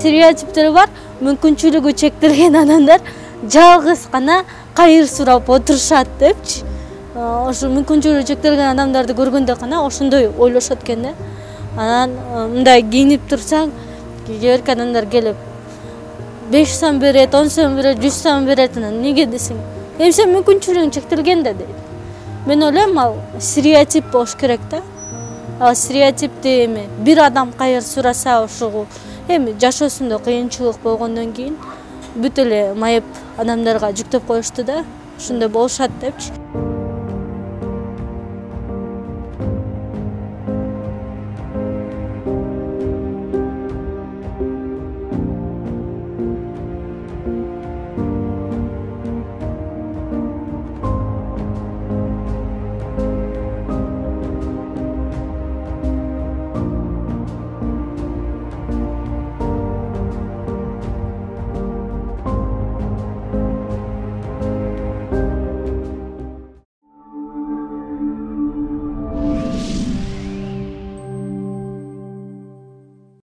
стереотиптер бар. Мүмкүнчүлүгү чектелген адамдар жалгыз гана кайыр сурап отурушат депчи. Ошо мүмкүнчүлүгү чектелген адамдарды көргөндө гана ошондой ойлошот экен да. Анан мындай кийинип турсаң, кээ бирки адамдар келип 5 сом берет, 10 сом берет, 100 сом берет. Неге десең, сен мүмкүнчүлүгүң чектелген да дейт. Мен ойлойм, ал стереотип болуш керек да. Ал стереотипти эми бир адам кайыр сураса, ошого эми жашоосунда кыйынчылык болгондон кийин бүт эле майып адамдарга жүктөп коюшту да. Ошондой болушат депчи.